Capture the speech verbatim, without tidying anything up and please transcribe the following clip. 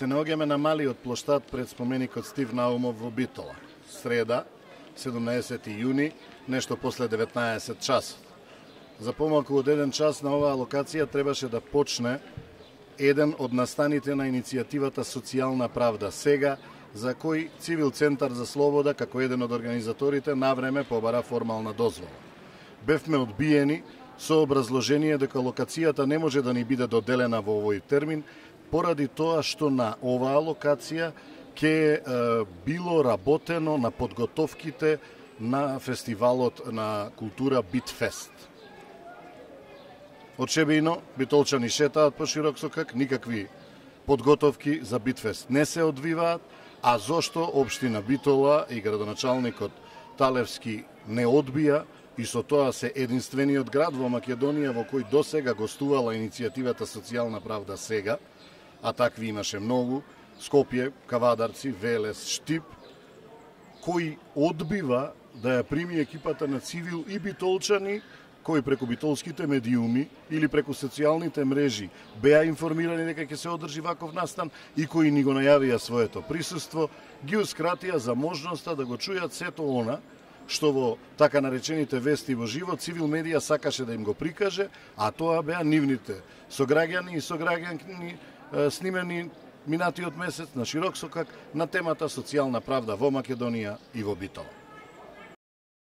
Се наоѓаме на малиот плоштад пред споменикот Стив Наумов во Битола. Среда, седумнаесети јуни, нешто после деветнаесет часот. За помалку од еден час на оваа локација требаше да почне еден од настаните на иницијативата Социјална правда сега, за кој Цивил Центар за слобода, како еден од организаторите, навреме побара формална дозвола. Бевме одбиени со образложение дека локацијата не може да ни биде доделена во овој термин, поради тоа што на оваа локација ќе било работено на подготовките на фестивалот на култура Битфест. Очебино, битолчани шетаат по широк сокак, никакви подготовки за Битфест не се одвиваат, а зошто општина Битола и градоначалникот Талевски не одбија и со тоа се единствениот град во Македонија во кој досега гостувала иницијативата Социјална правда сега, а такви имаше многу, Скопје, Кавадарци, Велес, Штип, кој одбива да ја прими екипата на Цивил и битолчани, кои преку битолските медиуми или преку социјалните мрежи беа информирани дека ќе се одржи ваков настан и кои ни го најавија своето присуство, гиускратија за можноста да го чујат сето она што во така наречените вести во живо Цивил медија сакаше да им го прикаже, а тоа беа нивните сограѓани и сограѓанки снимени минатиот месец на широк сокак на темата социјална правда во Македонија и во Битола.